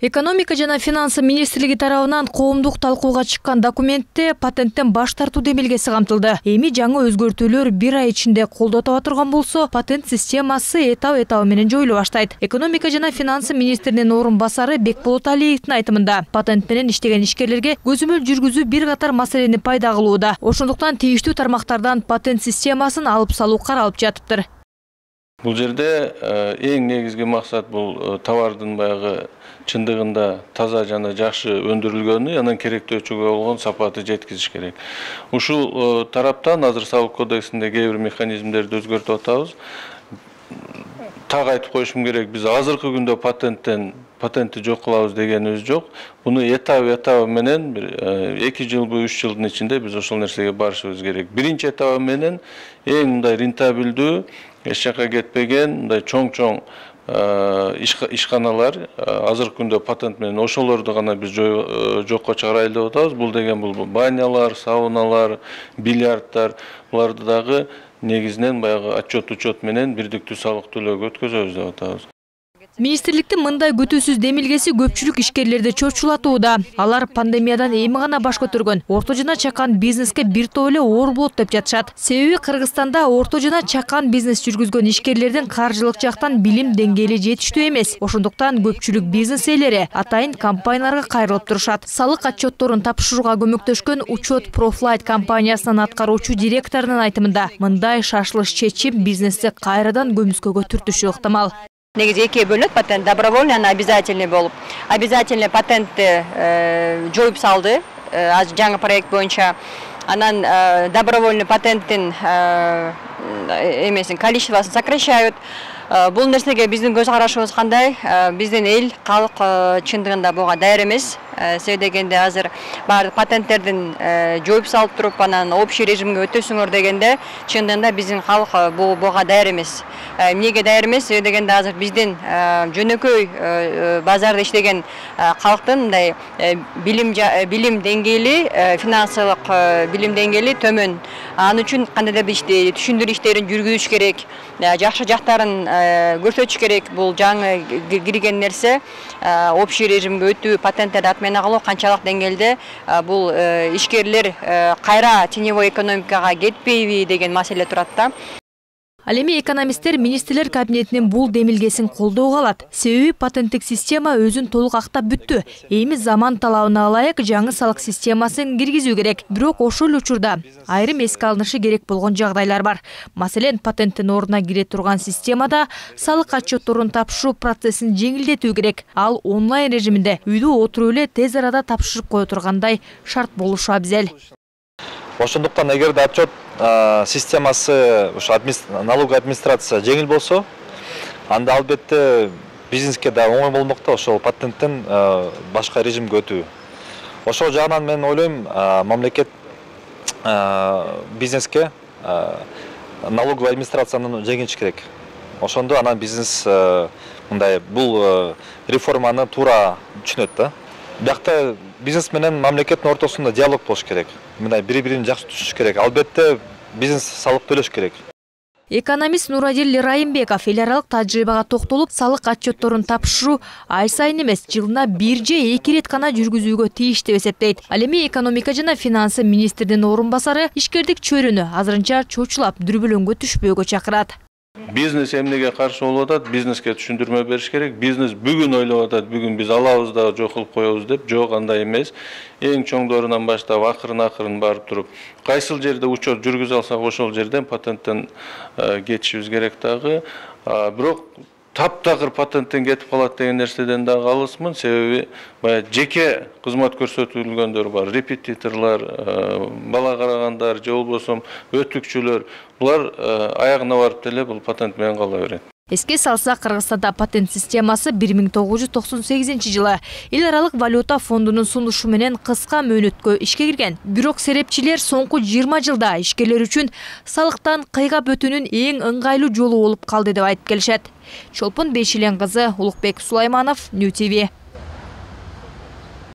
Экономика жана финансы министрлиги тарабынан коомдук талкууга чыккан документте патенттен баш тартуу демилгеси камтылды. Эми жаңы өзгөртүүлөр 1 ай ичинде колдо таба турган болсо, патент системасы этап менен жоюла баштайт. Экономика жана финансы министринин орун басары Бекболот Алиевдин айтымында, патент менен иштеген ишкерлерге көзөмөл жүргүзүү бир катар маселени пайда кылууда. Ошондуктан тийиштүү тармактардан патент системасын алып салуу каралып жатыптыр. Бул жерде эң негизги максат бул товардын баягы чындыгында таза жана жакшы өндүрүлгөнү, анан керектөөчүгө болгон сапаты жеткизиш керек. Ушул тараптан азыр салык кодексинде кээ бир механизмдерди өзгөртүп атабыз. Так айтып коюшум керек, биз азыркы күндө патентти жок кылабыз дегенибиз жок. Буну этап менен 2 жылбы 3 жылдын ичинде биз ошол нерсеге барышыбыз керек. Биринчи этабы менен эң мындай рентабелдүү, эч жакка кетпеген, мындай чоң ишканалар азыркы күндө патент менен ошолорду гана биз жокко чыгарайлы деп атабыз. Бул деген бул банялар, сауналар, бильярдтар, буларды дагы негизинен баягы отчет менен бирдиктүү салык төлөөгө өткөзөбүз деп атабыз. Министрликтин мындай күтүүсүз демилгеси көпчүлүк ишкерлерди чочулатууда. Алар пандемиядан эми гана баш көтөргөн орто жана чакан бизнеске бир топ эле оор болот деп жатышат. Себеби Кыргызстанда орто жана чакан бизнес жүргүзгөн ишкерлердин каржылык жактан билим деңгээли жетиштүү эмес. Ошондуктан көпчүлүк бизнес ээлери атайын компанияларга кайрылып турушат. Салык отчетторун тапшырууга көмөктөшкөн Учет Профлайт компаниясынын аткаруучу директорунун айтымында, мындай шашылыш чечим бизнести кайрадан көмүскөгө түртүшү ыктымал. Негизи экиге бөлүнөт, патент добровольный, ана обязательный болуп. Обязательный патентти жоюп салды, жаңы проект боюнча. Анан добровольный патенттин эмесин количествосын сокращают. Бул нерсеге биздин көз карашыбыз кандай? Биздин эл, калк чындыгында буга даяр эмес. Себеби дегенде азыр баардык патенттердин жоюп салып туруп, анан общий режимге өтөсүңөр дегенде, чындыгында биздин калк буга даяр эмес. Эмнеге даяр эмес? Себеби дегенде азыр биздин жөнөкөй базарда иштеген калктын мындай билим деңгээли, финансылык билим деңгээли төмөн. Анын үчүн кандайдыр бир түшүндүрүү иштерин жүргүзүш керек, жакшы жактарын көрсөтүш керек. Бул жаңы кирген нерсе, общий режимге өтүү, патенттерди отмена кылуу канчалык деңгээлде бул ишкерлер кайра теневой экономикага кетпейби деген маселе турат да. Ал эми экономисттер министрлер кабинетинин бул демилгесин колдоого алат. Себеби патенттик система өзүн толук актап бүттү. Эми заман талабына ылайык жаңы салык системасын киргизүү керек. Бирок ошол учурда айрым эске алынышы керек болгон жагдайлар бар. Маселен, патенттин ордуна кире турган системада салык отчетторун тапшыруу процессин жеңилдетүү керек. Ал онлайн режиминде үйдө отуруп эле тез арада тапшырып кое тургандай шарт болушу абзел. Ошондуктан эгерде отчет системасы налоговая администрация жеңил болсо, анда албетте бизнеске да оңой болмок да ошол патенттен башка режимге өтүү. Ошол жагынан мен ойлойм, мамлекет бизнеске налоговая администрацияны жеңилиш керек. Ошондо анан бизнес мындай бул реформаны туура түшүнөт да. Биякта бизнес менен мамлекеттин ортосунда диалог болуш керек. Мындай бири-бирин жакшы түшүнүш керек. Албетте бизнес салык төлөш керек. Экономист Нурадил Райымбеков эл аралык тажрыйбага токтолуп, салык отчетторун тапшыруу ай сайын эмес, жылына 1 же 2 рет гана жүргүзүүгө тийиш деп эсептейт. Ал эми экономика жана финансы министринин орун басары ишкердик чөйрөнү азырынча чочулап, дүрбөлөңгө түшпөөгө чакырат. Бизнес эмнеге каршы болуп атат, бизнеске түшүндүрмө бериш керек. Бизнес бүгүн ойлоп атат, бүгүн биз алабыз да жок кылып коебуз деп. Жок, андай эмес. Эң чоңдорунан баштап акырын барып туруп, кайсыл жерде учет жүргүзө алсак, ошол жерден патенттен кетишибиз керек дагы. Бирок таптакыр патенттен кетип калат деген нерседен дагы алысмын. Себеби баягы жеке кызмат көрсөтүлгөндөр бар, репетиторлор, бала карагандар же болбосо өтүкчүлөр. Булар аягына барып деле бул патент менен кала берет. Эске салсак, Кыргызстанда патент системасы 1998 жылы эл аралык валюта фондунун сунушу менен кыска мөөнөткө ишке кирген. Бирок серепчилер соңку 20 жылда ишкерлер үчүн салыктан кыйгап өтүүнүн эң ыңгайлуу жолу болуп калды деп айтып келишет. Чолпон Бейшилен кызы, Улукбек Сулайманов, Нью ТВ.